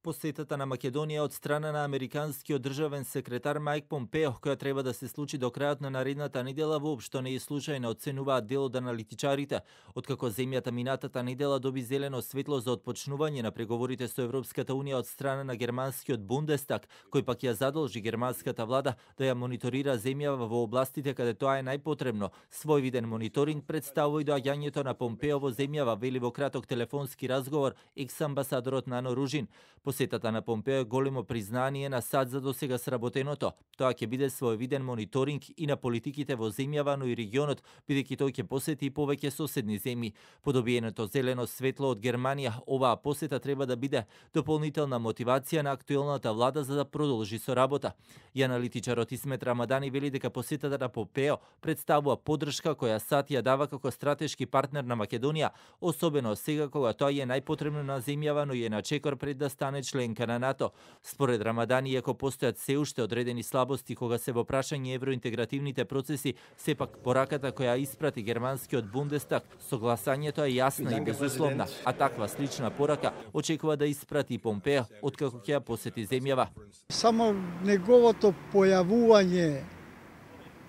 Посетата на Македонија од страна на американскиот државен секретар Мајк Помпео, која треба да се случи до крајот на наредната недела, воопшто не е случајна, оценуваат дел од аналитичарите. Откако земјата минатата недела доби зелено светло за отпочнување на преговорите со Европската унија од страна на германскиот Бундестаг, кој пак ја задолжи германската влада да ја мониторира земјава во областите каде тоа е најпотребно. Свој виден мониторинг представува и доаѓањето на Помпео во земјава, вели во краток телефонски разговор екс-амбасадорот Нано Ружин. Посетата на Помпео е големо признание на САД за досега сработеното. Тоа ќе биде своевиден мониторинг и на политиките во земјава, но и регионот, бидејќи тој ќе посети и повеќе соседни земји. По добиеното зелено светло од Германија, оваа посета треба да биде дополнителна мотивација на актуелната влада за да продолжи со работа. И аналитичарот Исмет Рамадани вели дека посетата на Помпео представува поддршка која САД ја дава како стратешки партнер на Македонија, особено сега кога тоа е најпотребно на земјава, но и е на чекор пред да стане членка на НАТО. Според Рамадани, иако постојат се уште одредени слабости кога се во прашање евроинтегративните процеси, сепак пораката која испрати германскиот Бундестаг, согласањето е јасна и безусловна, а таква слична порака очекува да испрати и Помпео откако ќе ја посети земјава. Само неговото појавување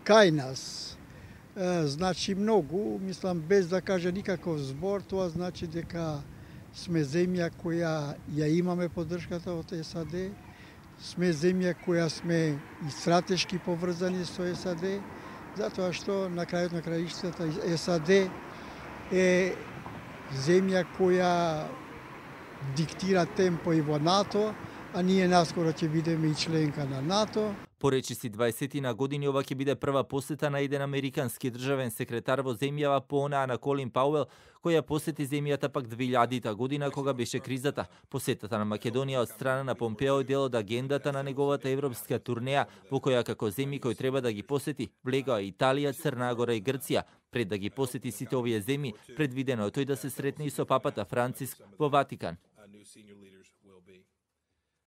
кај нас значи многу, мислам без да каже никаков збор, тоа значи дека сме земја која ја имаме поддршката од САД, сме земја која сме и стратешки поврзани со САД, затоа што на крајот на краиштата САД е земја која диктира темпо и во НАТО, а ние наскоро ќе бидеме и членка на НАТО. По речиси 20 на години ова ќе биде прва посета на еден американски државен секретар во земјава по онаа на Колин Пауел, која посети земјата пак 2000 година кога беше кризата. Посетата на Македонија од страна на Помпео е дел од агендата на неговата европска турнеја, во која како земји кои треба да ги посети влегоа Италија, Црна Гора и Грција. Пред да ги посети сите овие земји, предвидено е тој да се сретне и со папата Франциск во Ватикан.